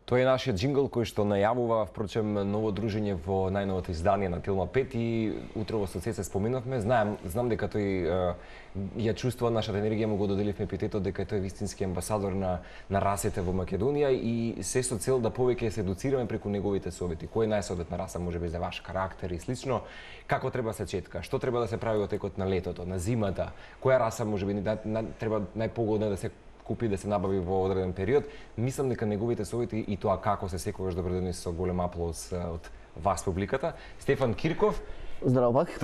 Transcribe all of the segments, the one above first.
Тој е нашиот джингл кој што најавува, впрочем, ново дружење во најновото издание на Телма 5 и утрово со се споменавме. Знам дека тој ја чувствува нашата енергија, му го доделивме епитетот дека тој е вистински амбасадор на расите во Македонија и се со цел да повеќе се едуцираме преку неговите совети. Кој е најсоветна раса можеби за ваш карактер и слично? Како треба се четка? Што треба да се прави во текот на летото, на зимата? Која раса можеби треба најпогодна да се купи, да се набави во одреден период? Мислам дека неговите совети и тоа како се секогаш добродојни со голем аплауз од вас публиката. Стефан Кирков. Здраво пак.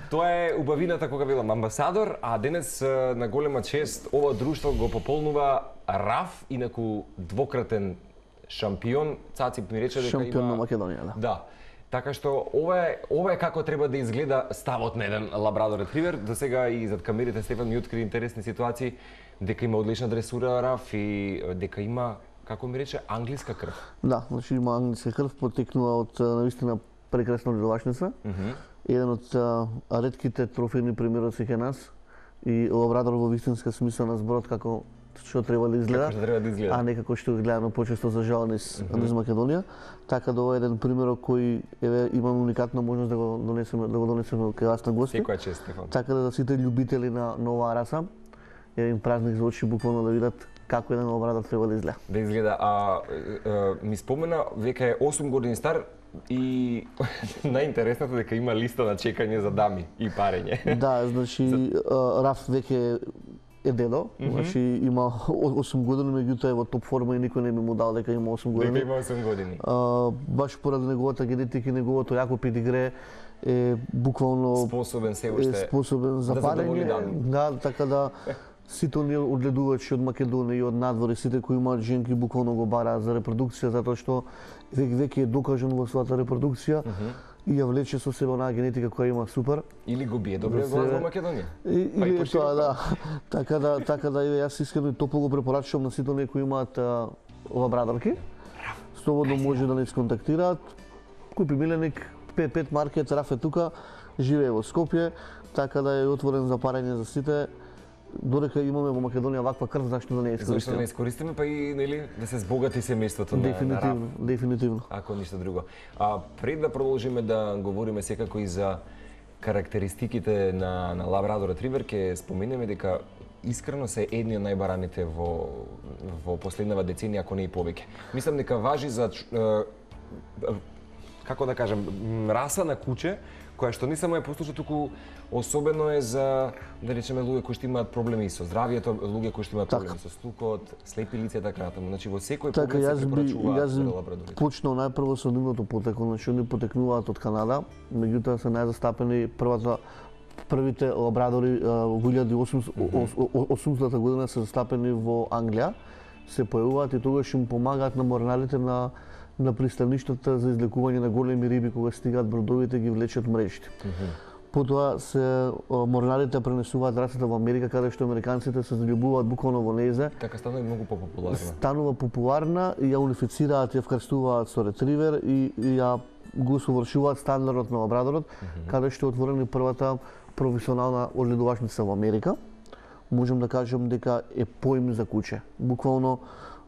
Тоа е убавината кога билам амбасадор, а денес на голема чест ова друштво го пополнува Раф, инаку двократен шампион. Цаци ми рече дека шампион на Македонија, да. Да. Така што ова е како треба да изгледа ставот на еден лабрадор ретривер. До сега и зад камерите Стефан ми откри интересни ситуации, дека има одлична дресура Раф и дека има, како ми рече, англиска крв. Да, значи има англиска крв, потекнува од навистина прекрасна одгледувачница. Еден од ретките трофејни примероци кај нас и лабрадор во вистинска смисла на зборот како што треба да изгледа, а не како што гледано почесто за жал низ Македонија. Така да ова е еден пример кој имаме уникатна можност да го донесеме кај вас на гости. Секоја чест, Стефан. Така да сите љубители на оваа раса, еден празник за очи буквално да видат како еден лабрадор треба да изгледа. Да изгледа, ми спомена века е 8 години стар и најинтересното дека има листа на чекање за дами и парење. Да, значи Раф веќе е дедо, значи има 8 години, меѓутоа е во топ форма и никој не би му дал дека има 8 години. Дека има 8 години. Баш поради неговата генетика и неговото јако педигре е буквално способен се уште способен за парење. Да, така да сите оние одгледувачи од Македонија и од надвор, сите кои имаат женки буквално го бараат за репродукција затоа што веќе е докажан во својата репродукција и ја влече со себе онаа генетика која има супер. Или го бие добре во Македонија. Или тоа, да. Така да јас искрено и топло го препорачувам на сите оние кои имаат лабрадорки. Слободно може да не сконтактираат. Купи миленик, P5 маркет, Раф е тука, живее во Скопје, така да е отворен за парење за сите. Додека имаме во Македонија ваква крв, зашто да не искористиме? Зашто да не искористиме, па и нели да се збогати семејството на Раф. Дефинитивно. Ако ништо друго. Пред да продолжиме да говориме секако и за карактеристиките на лабрадор ретривер, ќе споменеме дека искрено се едни од најбараните во последнава деценија, ако не и повеќе. Мислам дека важи за како да кажам, раса на куче која што не само е послушна, туку особено е за, да речеме, луѓе кои што имаат проблеми со здравието, луѓе кои што имаат проблеми со слухот, слепи лица и така натаму. Значи во секој поглед се препорачуваат лабрадорите. Почнал најпрво со нивното потекло, значи они потекнуваат од Канада, меѓутоа се најзастапени првите лабрадори во 1800 година се застапени во Англија, се појавуваат и тогаш им помагаат на морналите на пристаништата за излекување на големи риби кога стигаат бродовите ги влечат мрежите. Потоа се морналите пренесуваат расата во Америка, каде што американците се заљубуваат буквално во нејзе. Така станува многу популарна. Станува популарна и ја унифицираат, ја вкрстуваат со ретривер и ја го совршуваат стандардот на лабрадорот, каде што е отворена првата професионална одгледувачница во Америка. Можам да кажам дека е поим за куче. Буквално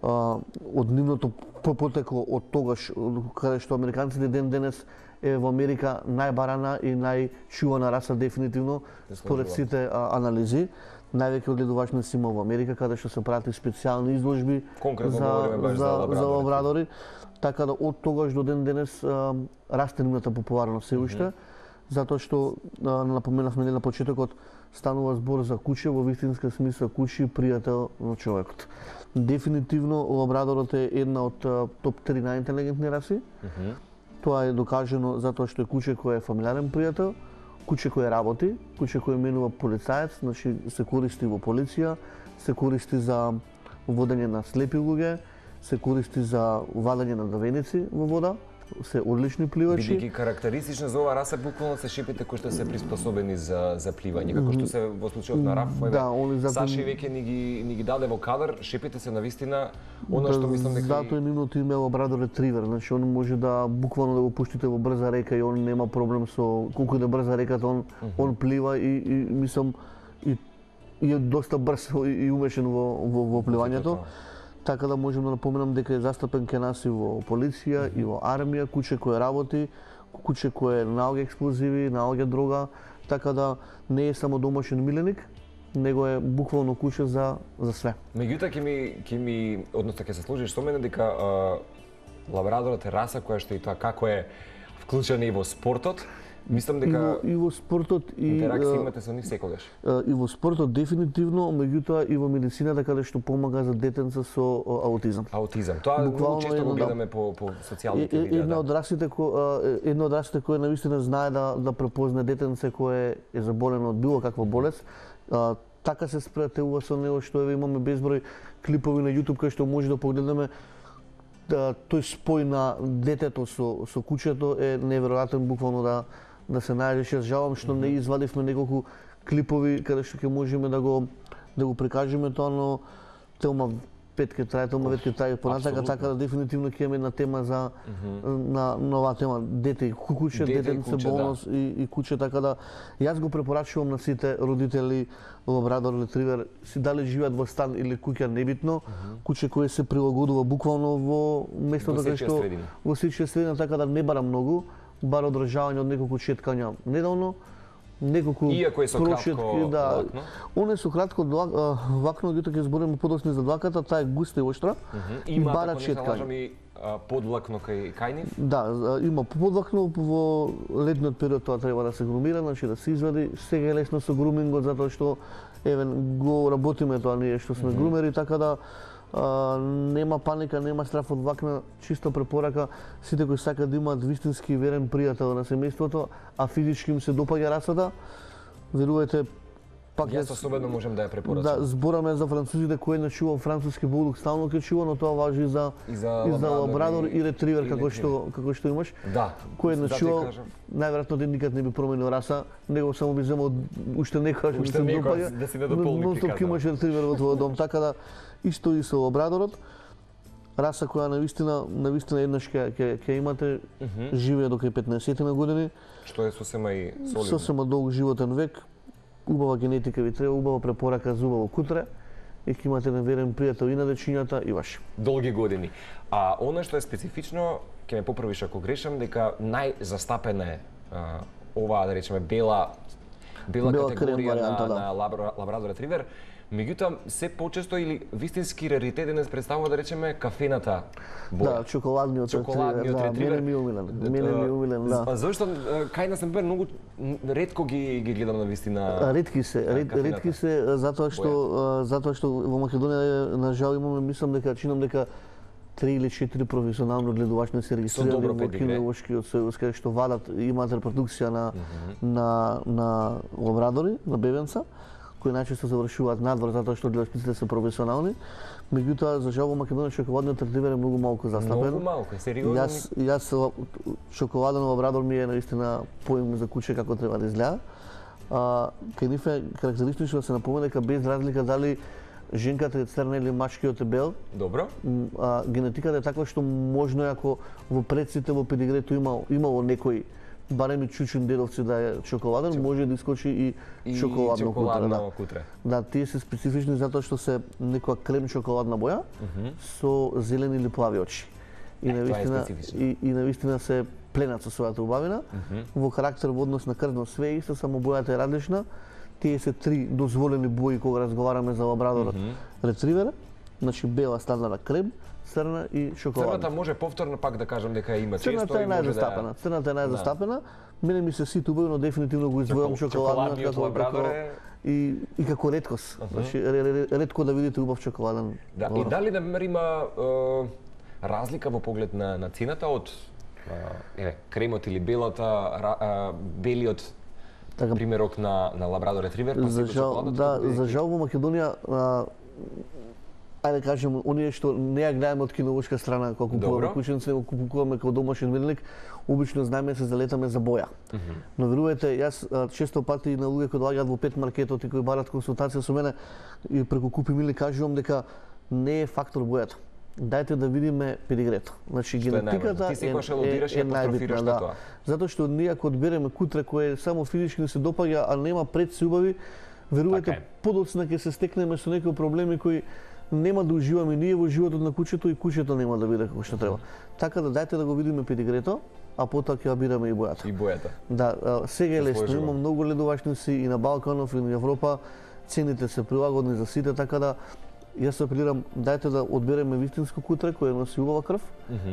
од нивното потекло од тогаш, каде што американците ден денес е во Америка најбарана и најчувана раса дефинитивно според сите анализи. Највеќе одгледувачници има во Америка, каде што се прати специјални изложби за лабрадори. Така да од тогаш до ден денес расте нивната популарност се уште, затоа што напоменавме на почетокот, станува збор за куче во вистинска смисла, куче пријател на човекот. Дефинитивно лабрадорот е една од топ 3 најинтелигентни раси. Тоа е докажано затоа што е куче кој е фамилиарен пријател, куче кој работи, куче кој менува полицаец, значи се користи во полиција, се користи за водење на слепи луѓе, се користи за вадење на давеници во вода, се одлични пливачи. Бидејќи карактеристично за оваа раса буквално се шипите кои што се приспособени за пливање, како што се во случајот на Раф. Саши веќе ни ги даде во кадар, шипите се навистина она што мислам дека затоа нивното име е лабрадор ретривер, значи он може да буквално да го пуштите во брза река и он нема проблем со колку да брза реката, он плива и мислам и е доста брз и умешен во пливањето. Така да можам да напоменам дека е застапен кај нас и во полиција, и во армија, куќе кој работи, куќе кој наоѓа експлозиви, наоѓа дрога, така да не е само домашен миленик, него е буквално куќе за све. Меѓутоа односно ќе се сложиш со мене дека лабрадорот е раса која што и тоа како е вклучена и во спортот. Мислам дека и во спортот интеракција имате со нив секогаш. И во спортот дефинитивно, меѓутоа и во медицината каде што помага за детенца со аутизам. Аутизам. Тоа многу често го гледаме по социјалните медии. Една од расите која навистина знае да препозна детенце кое е заболено од било каква болест. Така се спријателува со него што еве имаме безброј клипови на YouTube кај што може да погледнеме тој спој на детето со куќето е неверојатен буквално да се најдеш. Јас жалам што не извадивме неколку клипови каде што ќе можеме да го прикажеме тоа, но Телма 5 ке трае, Телма 5 ке трае понатака, така да дефинитивно ќе имаме една тема за на нова тема дете и куќе, детенце, болност и куќе, така да јас го препорачувам на сите родители лабрадор ретривер, си дали живеат во стан или куќа небитно, куќе кое се прилагодува буквално во местото каде што во сечија средина, така да не бара многу, бара одржавање од неколку четкања неделно, неколку прошетки, да. Оне со кратко влакно, дето ќе збориме подоцни за длаката, таа е густа и оштра и бара четкање. Подлакно кај нив? Да, има подлакно, во летниот период тоа треба да се грумира, значи да се извади. Сега е лесно со грумингот затоа што еве го работиме тоа ние што сме грумери, така да нема паника, нема страф од влакна, чисто препорака сите кои сакаат да имаат вистински верен пријател на семејството, а физички им се допаѓа расата, верувајте, пак јас особено можам да ја препорачам. Да, збораме за французите кои не чувам француски булдог, стално ќе чува, но тоа важи за лабрадор и ретривер како што имаш. Да. Кој не чува, најверојатно ден никад не би променил раса, него само би земал уште некојаш да се допаѓа. Да си не дополни пиката. Но имаш ретривер во твојот дом, така да исто и со лабрадорот. Раса која навистина еднаш ќе имате, живее до кај 15 на години. Што е сосема и солидно. Сосема долг животен век. Убава генетика ви треба, убава препорака за убаво кутре и ќе имате неверен пријател и на дечињата и ваши. Долги години. А она што е специфично, ќе ме поправиш ако грешам, дека најзастапена е оваа, да речеме, бела категорија на лабрадор ретривер. Меѓутоа, се почесто или вистински раритет денес представува, да речеме, кафената боја. Да, чоколадниот ретривер. Мене ми умилен, да. Зошто кај нас например многу ретко ги гледам на вистина. Ретки се затоа што во Македонија на жал имаме, мислам дека чинам дека 3 или 4 професионално гледувачи се регистрирани во кинолошкиот сојуз, каде што вадат имаат репродукција на лабрадори, на бебенца, кои најчесто завршуваат надвор затоа што гледачите се професионални. Меѓутоа, за жал во Македонија чоколадниот ретривер е многу малку застапен. Многу малку, сериозно. Јас чоколаден лабрадор ми е наистина поим за куќе како треба да изгледа. Кај нив е карактеристично да се напомене дека без разлика дали женката е црна или машкиот е бел. Добро. Генетиката е таква што можно ако во предците во педигрето имало некој барем и чучун дедовци да е чоколаден, може да искочи и чоколадно кутре. Да, тие се специфични затоа што се некоја крем чоколадна боја со зелени или плави очи. И навистина се пленат со својата убавина. Во карактер во однос на крвно све исто, само бојата е различна. Тие се 3 дозволени бои кога разговараме за лабрадорот ретривер, значи бела, стандардна, крем, црна и чоколадна. Црната може повторно пак да кажам дека има често и може да... Црната е најзастапена. Мене ми се сите убави, но дефинитивно го издвојам чоколадна и како реткост. Значи ретко да видите убав чоколаден. Да, и дали например има разлика во поглед на цената од кремот или белиот примерок на лабрадор ретривер, па се чоколадната? За жал во Македонија ајде кажем, оние што не ја гледаме од кинолошка страна кога купуваме кученце, го купуваме како домашен миленик, обично знаеме се залетаме за боја. Но верувајте, јас често пати на луѓе кои доаѓаат во пет маркетот и кои барат консултација со мене и преку купи милик кажувам дека не е фактор бојата. Дајте да видиме педигрето. Значи генетиката е најбитна, да. Затоа што ние ако одбереме кутре кое само физички се допаѓа, а нема предси убави, верувајте подоцна ќе се стекнеме со некои проблеми кои нема да уживаме ние во животот на кучето и кучето нема да биде како што треба. Така да дајте да го видиме педигрето, а потоа ќе ја бираме и бојата. И бојата. Да, сега е лесно, има многу ледовачници и на Балканов и на Европа, цените се прилагодни за сите, така да јас апелирам, дајте да одбереме вистинско кутре кое носи убава крв,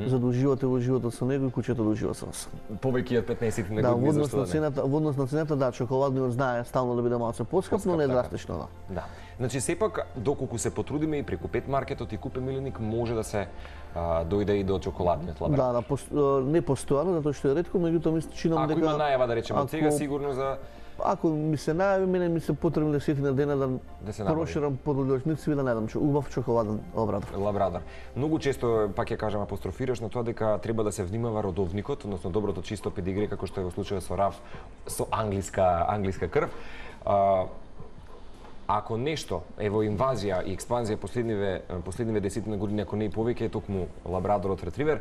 за да уживате во животот со него и кучето да ужива со вас. Повеќе од 15 на да, години, зашто да не? Во однос на цената, да, чоколадниот знае стално да биде малце поскап, но не е драстично, да. Да. Значи сепак доколку се потрудиме и преку Пет маркетот и Купе Миленик може да се дојде и до чоколадниот лабрадор. Да, не постојано, затоа што е ретко, меѓутоа ми чинам дека ако има најава да речеме од сега сигурно за ако ми се најави, мене ми се потребни 10 дена да се проширам подлучници и да најдам убав чоколаден лабрадор. Многу често, пак ја кажам, апострофираш на тоа дека треба да се внимава родовникот, односно доброто чисто педигре, како што е во случајот со Раф, со англиска крв. Ако нешто е во инвазија и експанзија последниве 10 години, ако не и повеќе, е токму лабрадорот ретривер,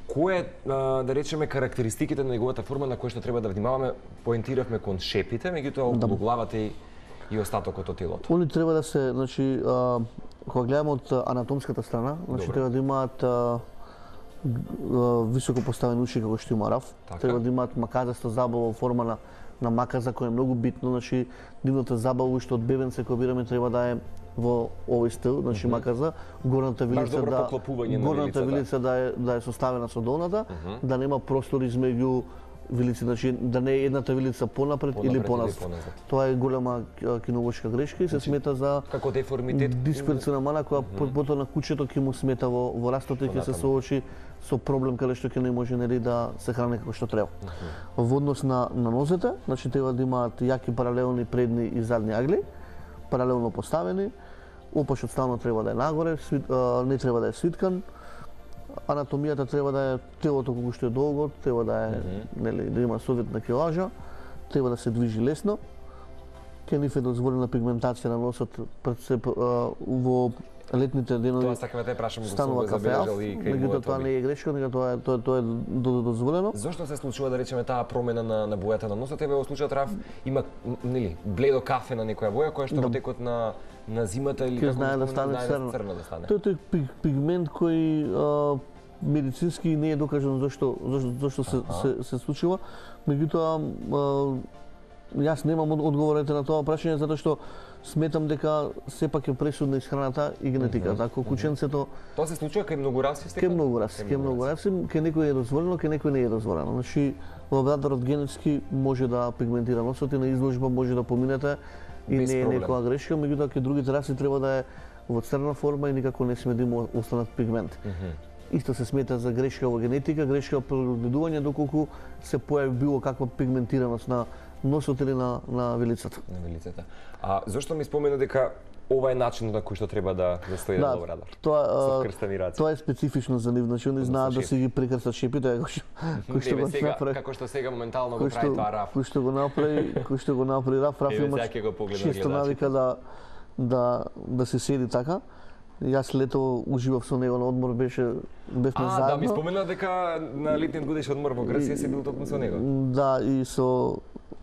кој е, да речеме, карактеристиките на неговата форма на која што треба да внимаваме? Поентиравме кон шепите, меѓутоа околу главата и остатокот од телото. Они треба да се, значи, кога гледаме од анатомската страна, значи треба да имаат високо поставени уши како што има Раф, треба да имаат маказаста забава во форма на маказа, која е многу битно, значи дивната забава уште од бебенце кој бираме треба да е во овој стил, значи маказа, горната вилица да е составена со долната, да нема простор измеѓу вилици, значи да не е едната вилица понапред или поназад. Тоа е голема кинолошка грешка и се смета за како деформитет, дисперсивна мана која потоа на кучето ќе му смета во растот и ќе се соочи со проблем каде што ќе не може нели да се храни како што треба. Во однос на нозете, значи треба да имаат јаки паралелни предни и задни агли, паралелно поставени. Опашот стално треба да е нагоре, не треба да е свиткан. Анатомијата треба да е телото колку што е долго, треба да е нели да има соодветна килажа, треба да се движи лесно. Ке ниф е дозволена пигментација на носот во летните денови. Тоа сакаме да те прашам, го станува забележал и кај меѓутоа тоа не е грешка, него тоа е дозволено. Зошто се случува да речеме таа промена на бојата на носот? Тебе во случајот Раф има нели бледо кафе на некоја боја која што во текот на зимата или како знае да стане црна да стане. Тоа е пигмент кој медицински не е докажано зошто се случува. Меѓутоа јас немам одговорите на тоа прашање затоа што сметам дека сепак е пресудна исхраната и генетиката. Ако кученцето тоа се случува кај многу раси, кај многу раси, кај некој е дозволено, кај некој не е дозволено. Значи лабрадорот генетски може да пигментира носот и на изложба може да поминете и не е некоја грешка, меѓутоа кај другите раси треба да е во црна форма и никако не сме да има останат пигмент. Исто се смета за грешка во генетика, грешка во природување доколку се појави било каква пигментираност на носот или на вилицата. На вилицата. А зошто ми спомена дека ова е начинот на кој што треба да стои на лабрадор? Тоа е специфично за нив, значи они знаат да си ги прекрстат шепите, кој што го направи. Како што сега моментално го прави тоа Раф. Кој што го направи Раф, има често навика да се седи така. Јас лето уживав со него на одмор, бевме заедно. Да, ми спомена дека на летниот годишен одмор во Грција си бил токму со него. Да, и со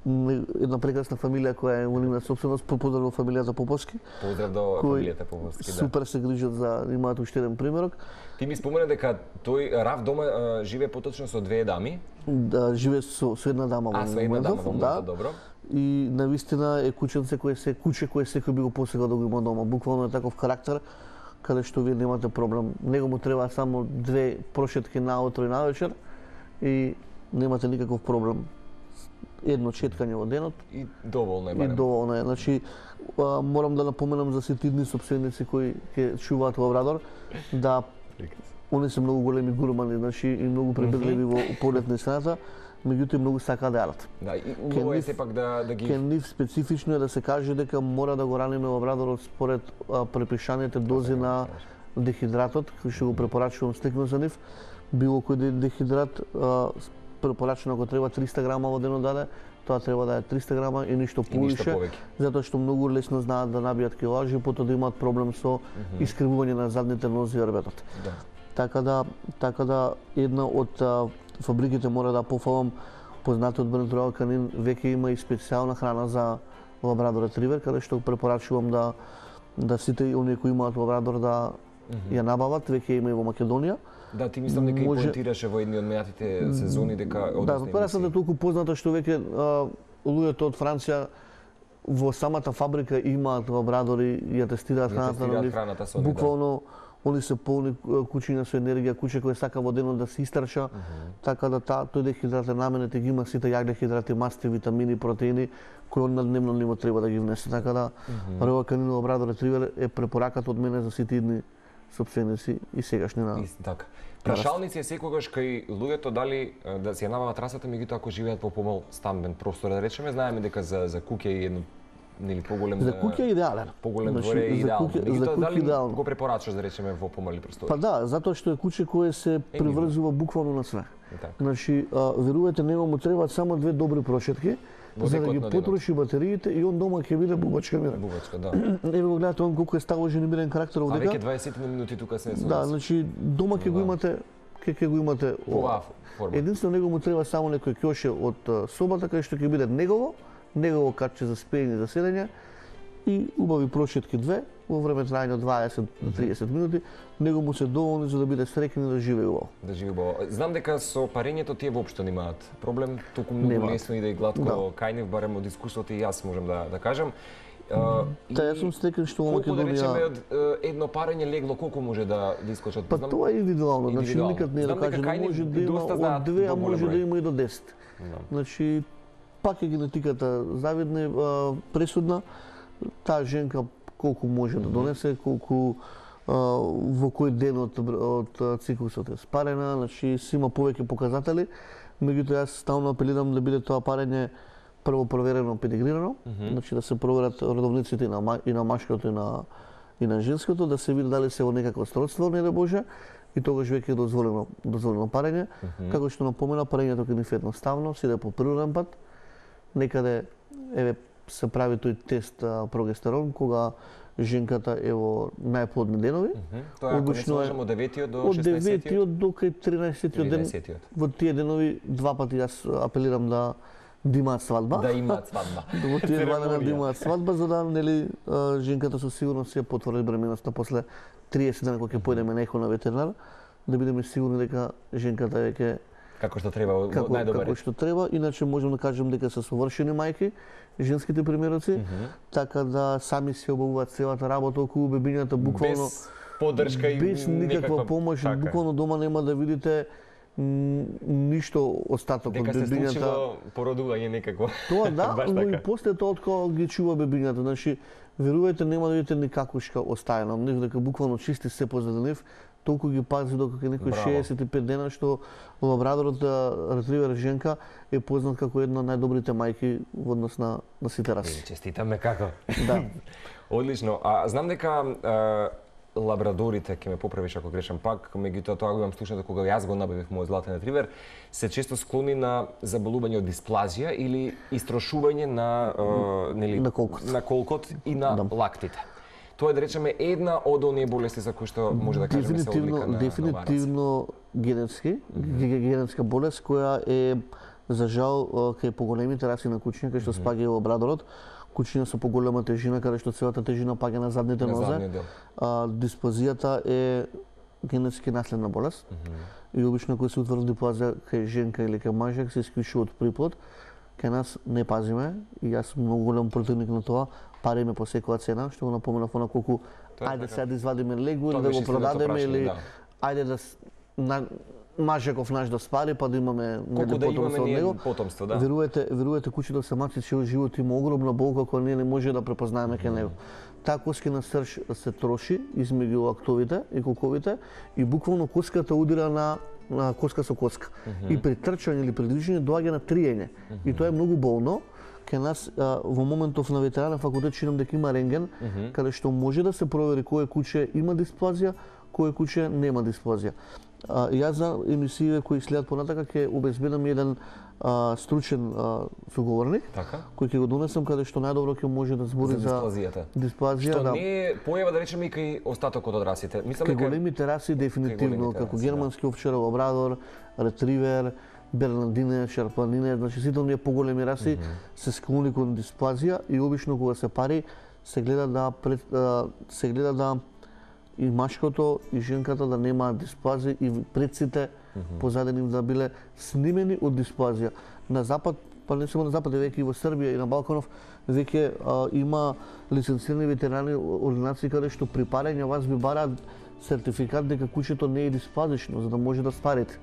една прекрасна фамилија која е нивна собственост, поздрав до фамилијата Поповски. Поздрав до фамилијата Поповски, да. Супер се грижат за, имаат уште еден примерок. Ти ми спомена дека тој Раф дома живее поточно со две дами. Да, живее со една дама во моментов, да. Добро. И навистина е кученце кое секој би го посегал да го има дома. Буквално е таков карактер каде што вие немате проблем. Него му треба само 2 прошетки наутро и навечер и немате никаков проблем. Едно четкање во денот и доволно е барем. И доволно е. Значи морам да напоменам за сите идни сопственици кои ќе чуваат лабрадор да они се многу големи гурмани, значи и многу пребегливи во поглед на исхраната, меѓутоа многу сакаат да јадат. Да, и убаво е сепак да ги Ке нив специфично е да се каже дека мора да го раниме лабрадорот според препишаните дози на дехидратот, кој што го препорачувам стекно за нив. Било кој дехидрат препорачено ако треба 300 грама во денот даде, тоа треба да е 300 грама и ништо повише, затоа што многу лесно знаат да набијат килажи и потоа да имаат проблем со искривување на задните нози и орбетот. Да. Така да една од фабриките мора да пофалам познатиот бренд Роял Канин веќе има и специјална храна за лабрадор ретривер, каде што препорачувам да да сите оние кои имаат лабрадор да ја набават, веќе има и во Македонија. Да, ти мислам дека и поентираше во едни од мејатите сезони дека Да, пресата е толку позната што веќе луѓето од Франција во самата фабрика имаат лабрадори и ја тестираат храната на нив. Буквално они се полни кучиња со енергија, куче кој сака во денот да се истрча, така да тој дехидрат намените ги има сите јагдехидрати, масти, витамини, протеини кои он на дневно ниво треба да ги внесе. Така да Ројал Канин лабрадор ретривер е препораката од мене за сите идни сопственици и сегашни на. Така. Прашалници е секогаш кај луѓето дали да си ја набават расата, меѓутоа ако живеат во помал стамбен простор, да речеме, знаеме дека за куќа е едно нели поголем за куќа е идеален. Поголем дворе е идеално. Меѓутоа дали го препорачаш да речеме во помали простори? Па да, затоа што е куќе кое се приврзува буквално на све. Значи, верувате, него му требаат само 2 добри прошетки за да ги потроши батериите и он дома ќе биде бубачка мирен. Бубачка, да. Еве го гледате он колку е сталожен и мирен карактер овдека. А веќе 20 минути тука се со. Да, значи дома ќе го имате, ќе го имате оваа форма. Единствено него му треба само некој ќоше од собата кај што ќе биде негово качче за спење за седење и убави прошетки 2 во време трајање од 20 до 30 минути, него му се доволни за да биде среќен и да живее убаво. Да живее убаво. Знам дека со парењето тие воопшто немаат проблем, толку многу лесно и да и гладко кај нив, барем од искуството и јас можам да кажам. Јас сум среќен што во Македонија. Колку да речеме од едно парење легло колку може да искочат? Па тоа е индивидуално, значи никад не е да кажем, може да има од 2, а може да има и до 10. Значи пак е генетиката завидна, пресудна. Таа женка колку може да донесе, колку во кој ден од циклусот е спарена, значи си има повеќе показатели, меѓутоа јас стално апелирам да биде тоа парење прво проверено, педигрирано, значи да се проверат родовниците и на машкото и на женското, да се види дали се во некакво сродство, не да Боже, и тогаш веќе е дозволено парење. Како што напомена, парењето кај нив е едноставно, си да по природен пат, некаде еве се прави тој тест прогестерон кога женката е во најплодни денови. Тоа обично е од 9-тиот до 16-тиот? Од 9-тиот до кај 13-тиот ден. Во тие денови 2 пати јас апелирам да имаат свадба. Да имаат свадба. Во тие 2 дена да имаат свадба, за да нели женката со сигурност ја потврди бременоста после 30 дена кога ќе појдеме некој на ветеринар, да бидеме сигурни дека женката веќе како што треба, најдобар. Како што треба, иначе можам да кажем дека се совршени мајки, женските примероци, така да сами се обавуваат целата работа околу бебињата, буквално без поддршка и без никаква помош, буквално дома нема да видите ништо остаток од бебињата. Дека се случило породување некако. Тоа да, но и после тоа кога ги чува бебињата, значи верувајте нема да видите никакушка остаена, дека буквално чисти се позади нив. Толку ги пази докато некој 65 дена, што лабрадорот ретривер женка е познат како една од најдобрите мајки во однос на сите раси. Честитаме како. Да. Одлично. А знам дека лабрадорите, ќе ме поправиш ако грешам пак, меѓутоа тоа го имам слушнато кога јас го набавив мојот златен ретривер, се често склони на заболување од дисплазија или истрошување на колкот и на лактите. Тоа е да речеме една од оние болести за кои што може да кажеме се одлика на дефинитивно генетска болест која е за жал кај поголемите раси на кучиња кај што спаѓа и лабрадорот, кучиња со поголема тежина каде што целата тежина паѓа на задните нозе. Дисплазијата е генетски наследна болест и обично кога се утврди дисплазија кај женка или кај мажак се исклучува од приплод. Кај нас не пазиме и јас сум многу голем противник на тоа. Париме по секоја цена, што го напоменав она колку ајде сега да извадиме легу или да го продадеме или ајде да мажеков наш да спари па да имаме потомство од него. Верувате кучето самаци цел живот има огромна болка која ние не може да препознаеме кај него. Таа коскина срж се троши измеѓу актовите и колковите и буквално коската удира на коска со коска. И при трчање или при движење доаѓа на триење. И тоа е многу болно. Кај нас во моментов на ветеринарен факултет чинам дека има рентген, каде што може да се провери кое куче има дисплазија, кое куче нема дисплазија. Јас за емисиите кои следат понатака ќе обезбедам еден стручен соговорник, кој ќе го донесам каде што најдобро ќе може да збори за дисплазија. Што не е појава да речеме и кај остатокот од расите. Кај големите раси дефинитивно, како германски овчар, лабрадор, ретривер, бернардине, шарпанине, значи сите оние поголеми раси се склони кон дисплазија и обично кога се пари се гледа да и машкото и женката да немаат дисплазија и предците позади нив да биле снимени од дисплазија. На запад, па не само на запад, веќе и во Србија и на Балканов веќе има лиценцирани ветеринарни ординации каде што при парење вас ви бараат сертификат дека кучето не е дисплазично, за да може да спарите.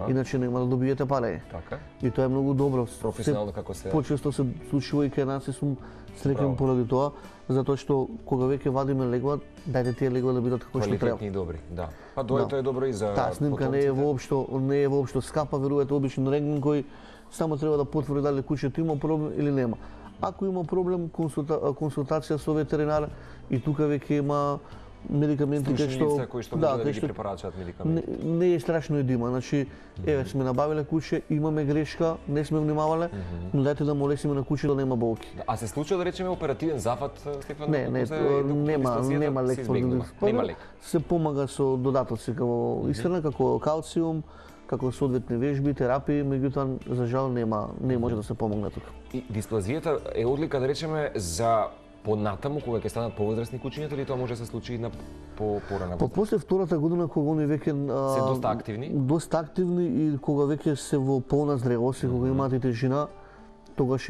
Иначе нема да добиете парење. Така. И тоа е многу добро. Професионално како се. Почесто се случува и кај нас и сум среќен поради тоа, затоа што кога веќе вадиме легла, дајте тие легла да бидат како што треба. Квалитетни и добри, да. Па тоа е добро и за таа снимка не е воопшто скапа, верувате, обичен рентген кој само треба да потврди дали кучето има проблем или нема. Ако има проблем, консултација со ветеринар и тука веќе има медикаменти кои што може да ги препорачаат медикаменти. Не е страшно и да има. Значи, еве сме набавиле куче, имаме грешка, не сме внимавале, но дајте да му лесиме на кучето да нема болки. А се случува да речеме оперативен зафат, Стефан? Нема лек. Нема лек. Се помага со додатоци како исхрана, како калциум, како соодветни вежби, терапии, меѓутоа за жал не може да се помогне тука. И дисплазијата е одлика да речеме за понатаму кога ќе станат повозрасни кучињата или тоа може да се случи и на порана година? После втората година кога они веќе се доста активни и кога веќе се во полна зрелост и кога имаат и тежина, тогаш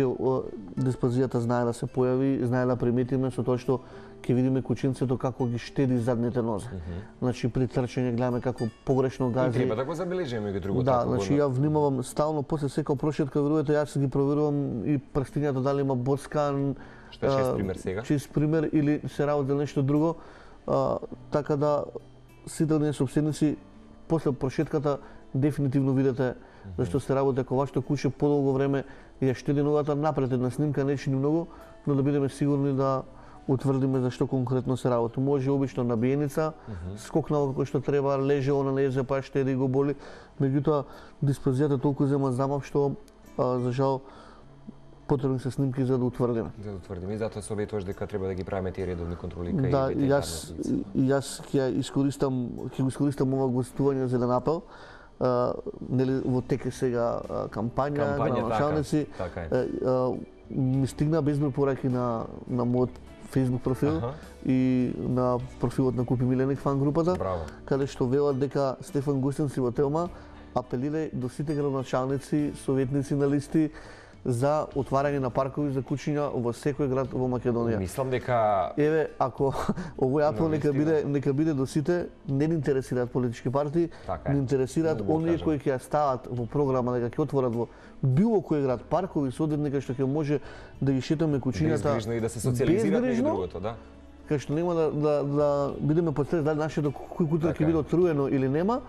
дисплазијата знае да се појави, знае да приметиме со тоа што ќе видиме кучинцето како ги штеди задните нозе. Значи при трчање гледаме како погрешно гази. И треба да го забележиме и другото. Да, значи ја внимавам стално после секоја прошетка, верувате, јас ги проверувам и прстињата дали има боцкан, што е чист пример сега. Чист пример или се работи за нешто друго, така да сите оние собственици после прошетката дефинитивно видите зашто се работи ако вашето куче подолго време ја штеди ногата напред една снимка не чини многу, но да бидеме сигурни да утврдиме за што конкретно се работи. Може обично набиеница, скокнало како што треба, лежело на незе па штеди го боли, меѓутоа дисплазијата толку зема замав што за жал потребни се снимки за да утврдиме. За да утврдиме и затоа советуваш дека треба да ги правиме тие редовни контроли кај ветеринарните. Јас ќе го искористам ова гостување за еден апел. Нели во тек е сега кампања на началници. Ми стигна безброј пораки на мојот Facebook профил и на профилот на Купи Миленик фан групата, каде што велат дека Стефан Густин си во Телма апелира до сите градоначалници, советници на листи за отварање на паркови за кучиња во секој град во Македонија. Мислам дека еве ако овој апел нека биде до сите, не ни интересираат политички партии, ни интересираат оние кои ќе ја стават во програма дека ќе отворат во било кој град паркови соодветни кај што ќе може да ги шетаме кучињата безгрижно и да се социализираат меѓу другото, да. Кај што нема да бидеме под стрес дали нашето куќа ќе биде отруено или нема,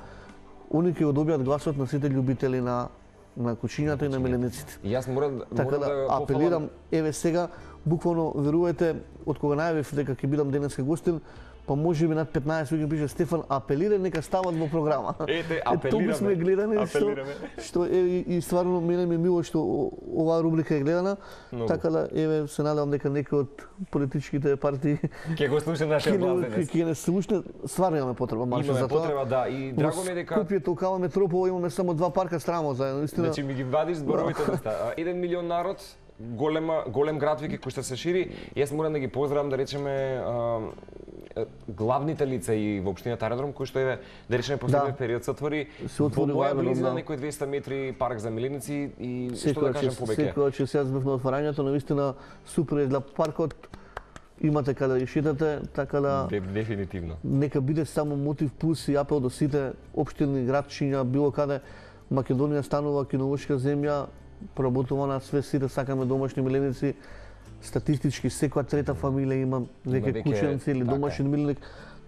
они ќе го добијат гласот на сите љубители на кучињата и на милениците. И јас морам да апелирам, еве сега, буквално верувате, од кога најавив дека ќе бидам денеска гостин, па може би над 15 луѓе пише Стефан апелира нека стават во програма. Ете, апелираме. Толку сме гледани што и стварно мене ми е мило што оваа рубрика е гледана. Така да еве се надевам дека некој од политичките партии ќе го слуша нашиот глас денес. Ќе не слуша, стварно имаме потреба маше за тоа. Имаме потреба, да, и драго ми е дека Купје Толкава метропола имаме само 2 парка страмо заедно, истина. Значи ми ги вадиш зборовите од уста. 1 милион народ, голем град веќе кој што се шири. Јас морам да ги поздравам да речеме главните лица и во општината Аеродром кои што еве да речеме последниот период се отвори во моја близина некои 200 метри парк за миленици и што да кажам повеќе. Секој че се збев на отварањето, навистина супер изгледа паркот. Имате каде да шетате, така да дефинитивно. Нека биде само мотив плюс и апел до сите општини, градчиња, било каде Македонија станува кинолошка земја, проработувана све сите сакаме домашни миленици. Статистички секоја трета фамилија има веќе кученци или домашен миленик,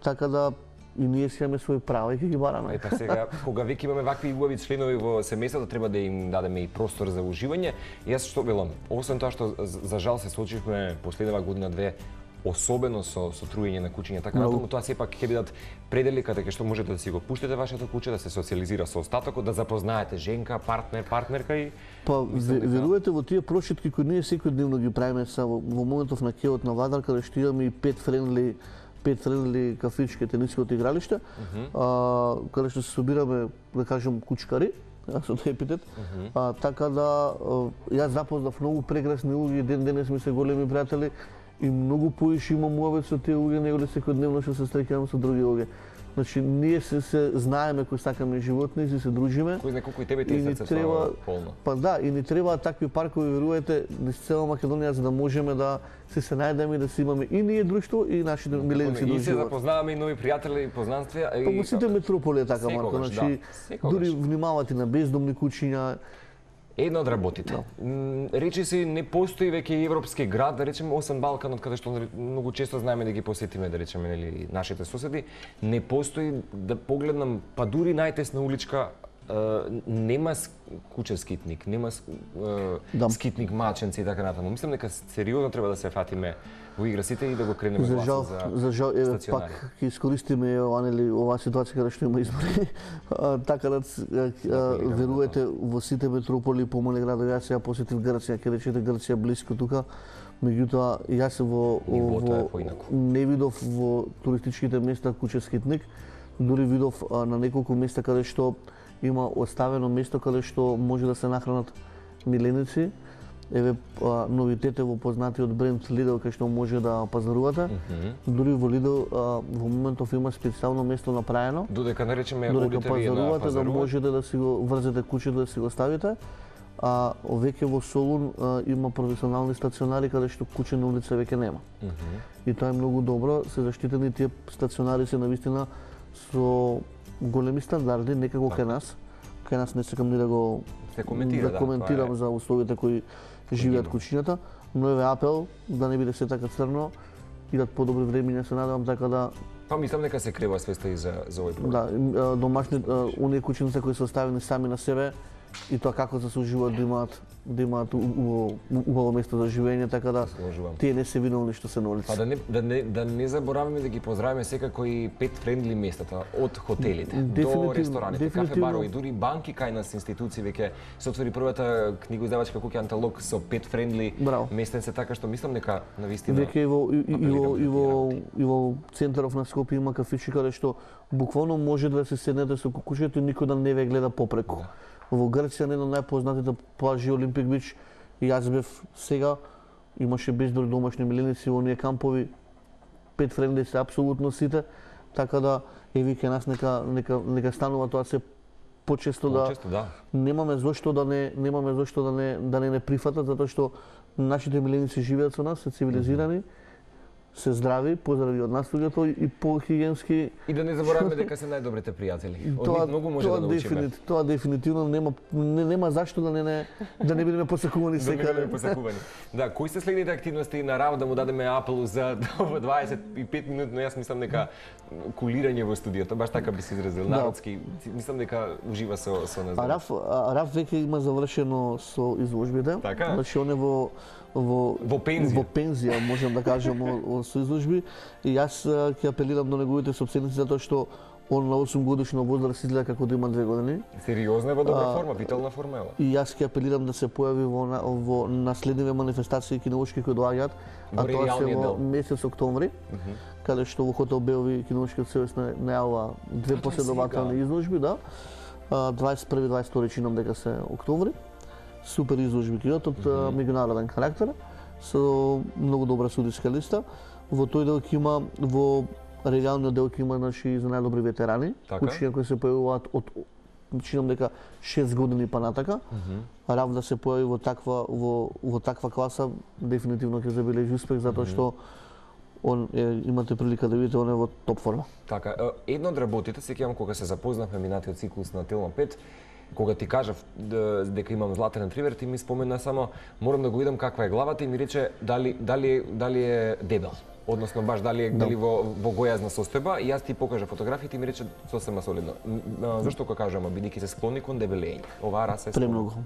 така да и ние си имаме своји права и ќе ги бараме. Ета сега, кога веќе имаме вакви убави членови во семејството, треба да им дадеме и простор за уживање. Јас што велам, освен тоа што за жал се случивме последнава година-две особено со труење на кучиња, така натаму тоа сепак ќе бидат предели каде што можете да си го пуштите вашето куче, да се социализира со остатокот, да запознаете женка, партнерка и па верувате во тие прошетки кои ние секојдневно ги правиме са во моментов на кеот на Вадар каде што имаме и пет френдли кафички тениското игралиште, каде што се собираме, да кажем, кучкари со тој епитет. Така да јас запознав многу прекрасни луѓе, ден денес ми се големи пријатели и многу поише имам муавет со тие луѓе него ли секојдневно што се среќавам со други луѓе. Значи ние се знаеме кои сакаме животни, се дружиме. Кој знае колку и тебе ти е срцето полно. Па да, и ни требаат такви паркови, верувате, низ цела Македонија за да можеме да се најдеме и да си имаме и ние друштво и нашите миленици до живот. И се запознаваме и нови пријатели и познанства. Па во сите метрополи е така, Марко, значи дури внимавате на бездомни куќиња. Една од работите. Речи се не постои веќе европски град, да речеме освен Балканот, каде што многу често знаеме да ги посетиме, да речеме, нели, нашите соседи, не постои да погледнам, па дури најтесна уличка нема куче скитник, нема скитник маченци и така натаму. Мислам дека сериозно треба да се фатиме во игра сите и да го кренеме гласот за жал, еве пак ќе искористиме оваа ситуација каде што има избори. Така да верувате во сите метрополи и помални градови. Јас ја посетив Грција, ќе речете Грција блиско тука. Меѓутоа јас не видов во туристичките места куче скитник. Дури видов на неколку места каде што има оставено место каде што може да се нахранат миленици. Еве новитете во познатиот бренд Lidl кај што може да пазарувате. Дури во Lidl во моментов има специјално место направено. Додека наречеме одите вие на пазарувате, да можете да си го врзете кучето да си го ставите. Веќе во Солун има професионални стационари каде што куче на улица веќе нема. И тоа е многу добро, се заштитени тие стационари се навистина со големи стандарди, некако кај нас. Кај нас не сакам ни да го коментирам за условите кои живеат кучињата, но еве апел да не биде се така црно, идат подобри времиња, се надевам, така да. Па мислам дека се крева свеста и за овој проблем. Да, домашни оние кучиња кои се оставени сами на себе и тоа како се соживуваат да имаат убаво место за живење, така да тие не се виновни што се на улица. Па да не забораваме да ги поздравиме секако и pet friendly местата, од хотелите до рестораните, кафе барови, дури банки кај нас институции веќе се отвори првата книгоиздавачка куќа Анталог со pet friendly местенце, така што мислам дека навистина веќе и во центаров на Скопје има кафичи каде што буквално може да се седнете со кукушето и никој да не ве гледа попреку. Во Грција на едно најпознатите плажи Олимпик Бич и јас бев сега, имаше безброј домашни миленици во оние кампови, pet friendly се апсолутно сите, така да еве кај нас нека станува тоа се почесто да немаме зошто да не прифатат, затоа што нашите миленици живеат со нас, се цивилизирани, се здрави, позdraви од нас луѓето и по-хигиенски. И да не забораваме дека се најдобрите пријатели. Од нив многу може да научиме. Тоа дефинитивно нема зашто да не бидеме посакувани секаде. Да, кои се следните активности на Раф, да му дадеме апел за 25 минутно, јас мислам дека кулирање во студиото, баш така би се изразил, народски, мислам дека ужива со нас. Раф веќе има завршено со изложбите. Така? Значи он е во пензија, можам да кажам, со изложби. И јас ќе апелирам до неговите собственици затоа што он на 8 годишна возраст изгледа како да има 2 години. Сериозно е во добра форма, витална форма е. И јас ќе апелирам да се појави во наследниве манифестации кинолошки кои доаѓаат, а тоа се во месец октомври, каде што во хотел Белви кинолошкиот сојуз најавува 2 последователни изложби, да. 21-22 чинам дека се октомври. Супер изложби ќе од меѓународен карактер, со многу добра судиска листа. Во тој дел ќе има, во регалниот дел ќе има наши за најдобри ветерани, кучиња кои се појавуваат од чинам дека 6 години па натака. Раф да се појави во таква класа дефинитивно ќе забележи успех затоа што имате прилика да видите он е во топ форма. Така, едно од работите, сеќавам кога се запознавме минатиот циклус на Телма 5, кога ти кажав дека имам златен ретривер, ти ми спомена само морам да го видам каква е главата и ми рече дали е дебел. Односно баш дали во гојазна состојба и јас ти покажа фотографии и ми рече сосема солидно. Зошто го кажам, бидејќи се склони кон дебелење. Оваа раса е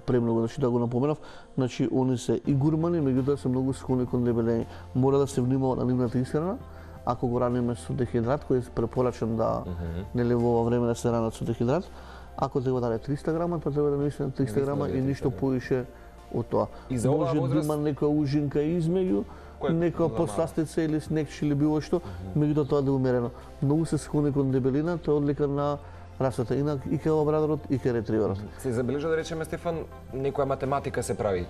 премногу, значи да го напоменав, значи они се и гурмани, меѓутоа се многу склони кон дебелење. Мора да се внимава на нивната исхрана. Ако го раниме со дехидрат, кој е препорачан да нели во ова време да се ранат со дехидрат, ако треба да даде 300 грама, тоа треба да навистина 300 грама и ништо поише од тоа. Може да има некоја ужинка измеѓу, некоја подсластица или снекче или било што, меѓутоа тоа да е умерено. Многу се склони кон дебелина, тоа е одлика на расата и кај лабрадорот и кај ретриверот. Се забележа да речеме, Стефан, некоја математика се прави,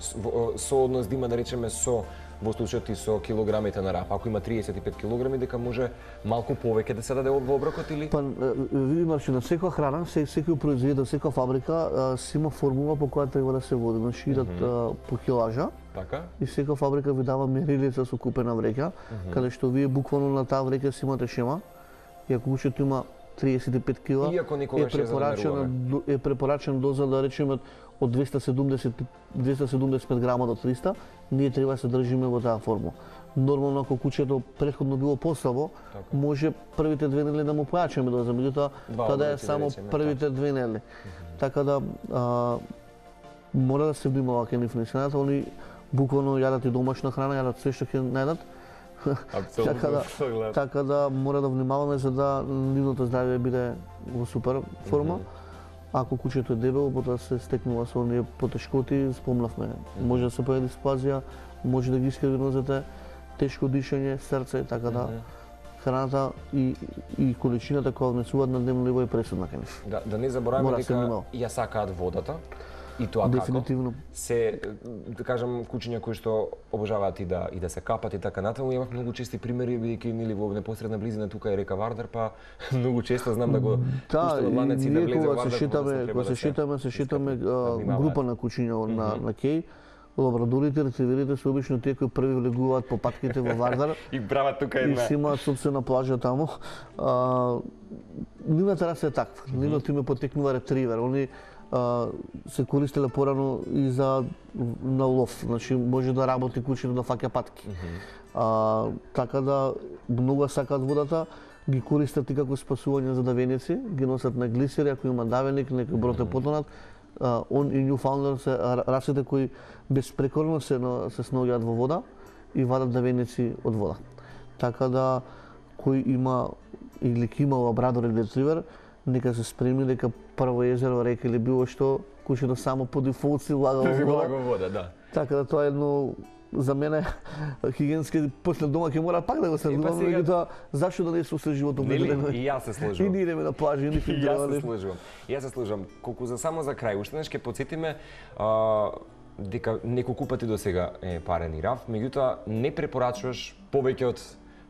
сооднос да има да речеме со во случајот и со килограмите на рап. Ако има 35 килограми, дека може малку повеќе да се даде во оброкот или? Па види, значи на секоја храна, секој производител, секоја фабрика си има формула по која треба да се води. Значи идат по килажа. Така? И секоја фабрика ви дава мерилица со купена вреќа, каде што вие буквално на таа вреќа си имате шема. И ако кучето има 35 кила, е препорачена доза да речеме од 275 грама до 300, ние треба да се држиме во таа формула. Нормално ако кучето претходно било послабо, може првите 2 недели да му појачаме доза, меѓутоа тоа да е само првите 2 недели. Така да мора да се внимава кај нив на храната, они буквално јадат и домашна храна, јадат све што ќе најдат. Така да мора да внимаваме за да нивното здравје биде во супер форма. Ако кучето е дебело, потоа се стекнува со оние потешкоти, спомнавме. Може да се појави диспазија, може да ги искриви нозете, тешко дишење, срце, така да храната и количината која внесуваат на дневно ниво е пресудна кај нив. Да не забораваме дека ја сакаат водата. И тоа дефинитивно. Како се, да кажам, кучиња кои што обожаваат и да се капат и така натаму. Имав многу чести примери, бидејќи нели во непосредна близина тука е река Вардар, па многу често знам да го пуштат ланеци да влезе во Вардар. Кога се шетаме група на кучиња на кеј, лабрадорите, ретриверите се обично тие кои први влегуваат по патките во Вардар. И прават тука една. И си имаат собствена плажа таму. Нивната раса е таква. Нивното име потекнува ретривер. Они се користеле порано и за на лов, значи може да работи кучето да фаќа патки. Така да многу сакаат водата, ги користат и како спасување за давеници, ги носат на глисери, ако има давеник, некој брод е потонат. Он и Ньюфаундленд се расите кои безпрекорно се снаоѓаат во вода и вадат давеници од вода. Така да кој има или ки има лабрадор или ретривер, нека се спремни дека прво езеро, река или било што, кучето само по дефолт си влага во вода, да. Така да тоа е едно за мене хигиенски после дома ќе мора пак да го следувам, меѓутоа зашто да не се освежи животот? И јас се сложувам. И ние идеме на плажа, и ни јас се сложувам. Колку за само за крај, уште нешто ќе потсетиме дека неколку пати досега е парен и раф, меѓутоа не препорачуваш повеќе од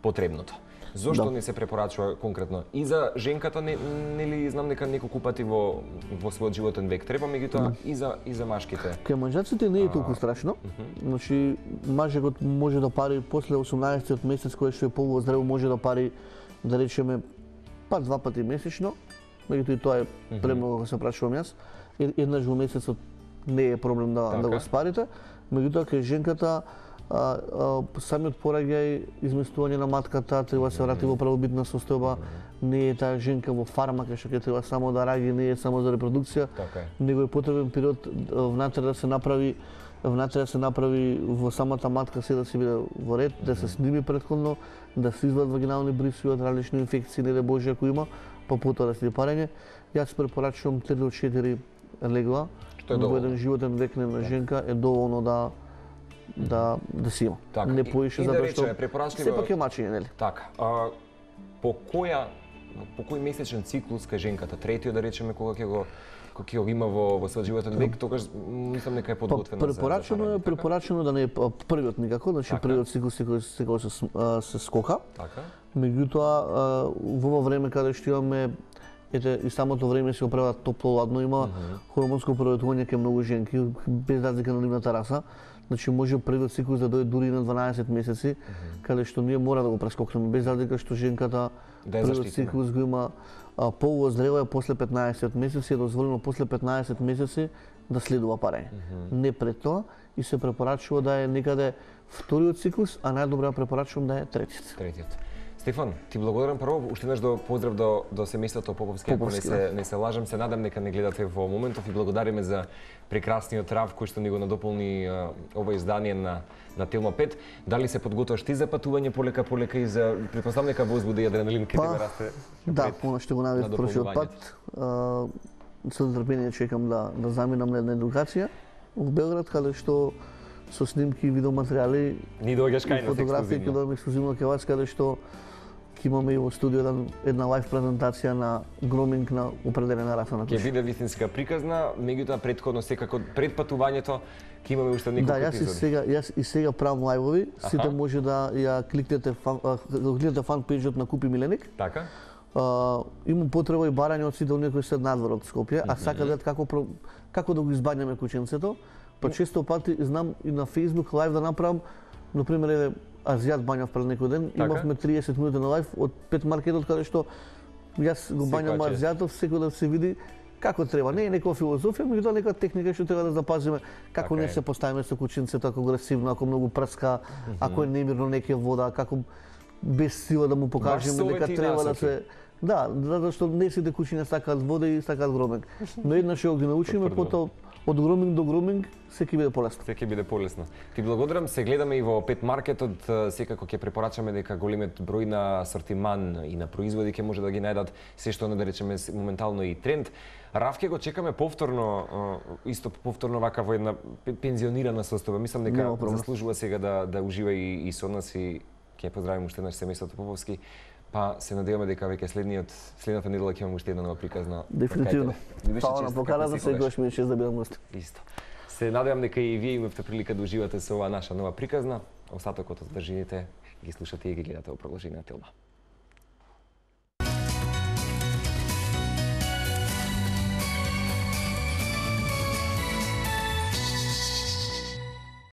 потребното. Зошто не се препорачува конкретно? И за женката, нели знам дека неколку пати во својот животен век треба, меѓутоа и за машките. Кај мажаците не е толку страшно. Значи мажот може да пари после 18-тиот месец кој што е полуоздраво, може да пари да речеме па 2 пати месечно. Меѓутоа и тоа е премногу, се прашувам јас. Еднаш во месецот не е проблем да го спарите. Меѓутоа кај женката самиот пораѓај, изместување на матката, треба да се врати во правобитна состојба, не е таа женка во фарма кај што ќе треба само да раѓи, не е само за репродукција, него е потребен период внатре да се направи во самата матка се да се биде во ред, да се сними претходно, да се извадат вагинални брисови од различни инфекции, не да Боже ако има, па потоа да се парење. Јас препорачувам 3 до 4 легла во еден животен век на женка е доволно да си има. Не поише затоа што сепак е мачење, нели? Така. По кој месечен циклус кај женката, третиот да речеме кога ќе го има во својот животен век, тогаш мислам дека е подготвена за препорачено да не е првиот никако, значи првиот циклус се скока. Така. Меѓутоа во ова време каде што имаме и самото време се оправа топло-ладно, има хормонско преработување кај многу женки без разлика на нивната раса. Значи може првиот циклус да дојде дури на 12 месеци, каде што ние мора да го прескокнеме без разлика што женката првиот циклус го има полуоздрева после 15 месеци, е дозволено после 15 месеци да следува парење. Не пред тоа и се препорачува да е некаде вториот циклус, а најдобро препорачувам да е третиот. Стефан, ти благодарам прво, уште еднаш поздрав до семејството Поповски, ако не се лажам, се надам дека не гледате во моментов и благодариме за прекрасниот рав кој што ни го надополни ова издание на Телма 5. Дали се подготваш ти за патување полека и за претпоставам дека возбуда и адреналин кај тебе расте? Да, она што го навиев прошиот пат. Со нетрпение чекам да заминам на една едукација во Белград, каде што со снимки и видеоматеријали ни доаѓаш кај нас фотографии ќе доаѓам ексклузивно кај вас, каде што ќе имаме и во студио една лайв презентација на громинг на определена раса на Ќе кучи. биде вистинска приказна, меѓутоа претходно секако пред патувањето ќе имаме уште неколку Да, јас и сега правам лајвови, сите може да ја кликнете фан пејџот на Купи Миленик. Така? Имам потреба и барање од сите оние кои се надвор од Скопје, а сака да како да го избаѓаме кученцето. Па често пати знам и на Facebook лајв да направам, например, еве азијат бањав пред некој ден, имавме 30 минути на лајв од пет маркетот каде што јас го бањам азијатов, секој да се види како треба. Не е некоја филозофија, меѓутоа некоја техника што треба да запазиме, како не се поставиме со кученцето, ако агресивно, ако многу прска, ако е немирно неќе вода, како без сила да му покажеме дека треба да се. Да, затоа што не сите кучиња сакаат вода и сакаат громинг. Но еднаш ќе ги научиме, потоа од громинг до громинг се ќе биде полесно. Се ќе биде полесно. Ти благодарам, се гледаме и во Пет маркетот, секако ќе препорачаме дека големиот број на асортиман и на производи ќе може да ги најдат се што да речеме моментално и тренд. Равке го чекаме повторно, исто повторно вака во една пензионирана состојба. Мислам дека заслужува сега да ужива и со нас и ќе поздравим уште наш семејството Поповски. Па се надеваме дека веќе следната недела ќе имаме уште една нова приказна. Дефинитивно. Фала на поканата, секогаш ми е чест да бидам гост. Исто. Се надевам дека и вие имавте прилика да уживате со оваа наша нова приказна. Остатокот од држините ги слушате и ги гледате во продолжение на Телма.